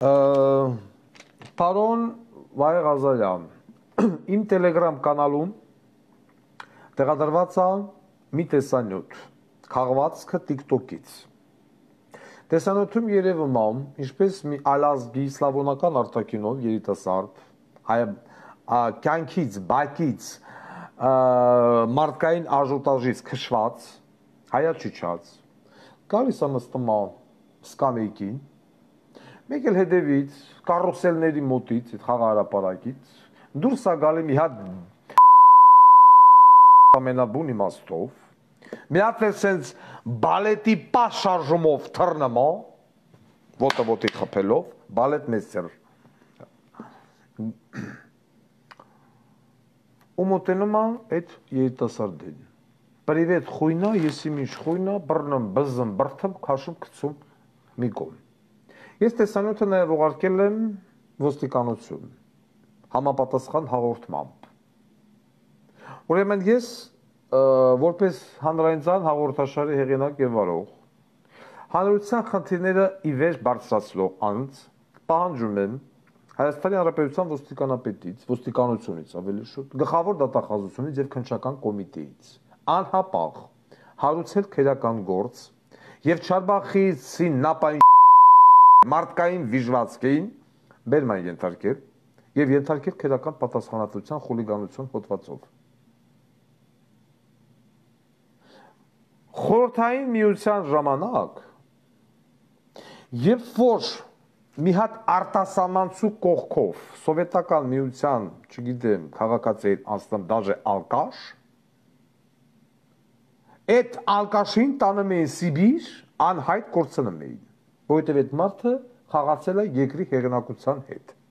Պարոն Վահե Ղազարյան, իմ տելեգրամ կանալում տեղադրված է մի տեսանյութ, քաղվածքը TikTok-ից։ Տեսանյութում երևում է, ինչպես մի ալազգի սլավոնական արտաքինով երիտասարդ, կյանքից, բակից, մարդկային աժոտաժից քշված, հայաչուչած, գալիս է նստում է սկամեյքին, մեկ էլ հետևից, կարուսելների մոտից, այդ խաղահրապարակից, դուրս է գալի մի հատ ամենաբուն իմաստով, մի հատ էլ սենց բալետի պաշ շարժումով թռնում է, ոտը ոտի խփելով, բալետ մեստեր։ Ու մոտենում է այդ երիտասարդին։ Պրիվետ խույնա, եսի ինչ խույնա, բռնում, բզում, բրթում, քաշում, գցում մի կողմ։ Ես տեսանյութը նաև ուղարկել եմ ոստիկանություն, համապատասխան հաղորդմամբ։ Ուրեմն ես, որպես հանրայնցան հաղորդաշարի հեղինակ եւ վարող, հանրության խնդիրները ի վեր բարձրացնող անձ պահանջում եմ Հայաստանի Հանրապետության ոստիկանապետից, ոստիկանությունից ավելի շուտ, գլխավոր դատախազությունից եւ քննչական կոմիտեից անհապաղ հարուցել քրեական գործ եւ Չարբախիցի նապային մարդկային վիժվածքին բերման ենթարկել եւ ենթարկել քրեական պատասխանատվության խուլիգանություն հոդվածով։ Խորհրդային միության ժամանակ երբ որ մի հատ արտասահմանցու կողքով սովետական միության, չգիտեմ, քաղաքացիին անցնում դաժե ալկաշ, այդ ալկաշին տանում էին Սիբիր, անհայտ կորցնում էին, որովհետև այդ մարդը խաղացել է երկրի հեղինակության հետ։